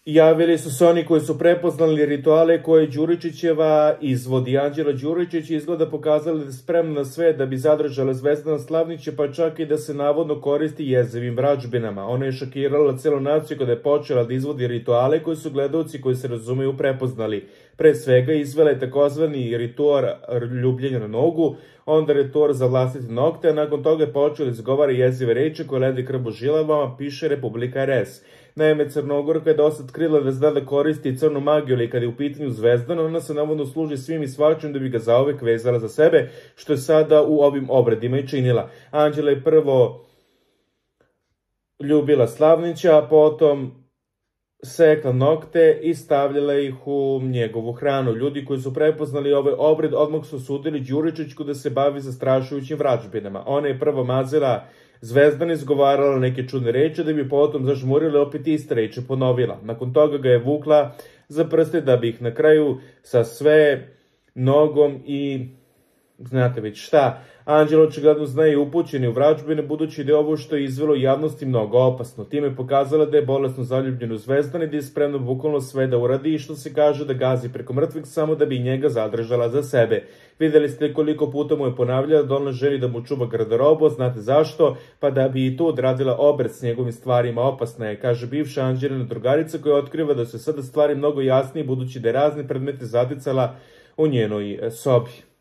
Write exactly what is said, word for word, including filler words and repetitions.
Javili su se oni koji su prepoznali rituale koje Đuričićeva izvodi. Anđela Đuričić izgleda pokazala da je spremna na sve da bi zadržala Zvezdana Slavnića, pa čak i da se navodno koristi jezivim vrađbinama. Ona je šokirala celu naciju kada je počela da izvodi rituale koji su gledalci koji se razumeju prepoznali. Pre svega izvela je takozvani ritual ljubljenja na nogu, onda ritual za vlastite nokte, a nakon toga je počela da izgovara jezive reči koje ledi krv u žilavama, piše Republika er es. Naime, Crnogorka je dosta otkrila da zna da koristi crnu magiju, ali kada je u pitanju Zvezdan, ona se navodno služi svim i svačim da bi ga zauvek vezala za sebe, što je sada u ovim obredima i činila. Anđela je prvo ljubila Slavnića, a potom sekla nokte i stavljala ih u njegovu hranu. Ljudi koji su prepoznali ovaj obred odmah su sudili Đuričićku da se bavi zastrašujućim vrađbinama. Ona je prvo mazila Zvezdan, izgovarala neke čudne reči da bi potom zažmurila opet iste reči ponovila. Nakon toga ga je vukla za prste da bi ih na kraju sa sve nogom i znate već šta. Anđela očigledno zna i upućeni u vrađbine, budući da je ovo što je izvelo javnosti mnogo opasno. Time je pokazala da je bolesno zaljubljena u Zvezdan i da je spremno bukvalno sve da uradi i što se kaže da gazi preko mrtvih samo da bi njega zadržala za sebe. Videli ste koliko puta mu je ponavljala da ona želi da mu čuva garderobu, znate zašto? Pa da bi i tu odradila obred s njegovim stvarima. Opasna je, kaže bivša Anđelina drugarica koja otkriva da su sada stvari mnogo jasnije budući da je razne predmete zaticala u njenoj sobi.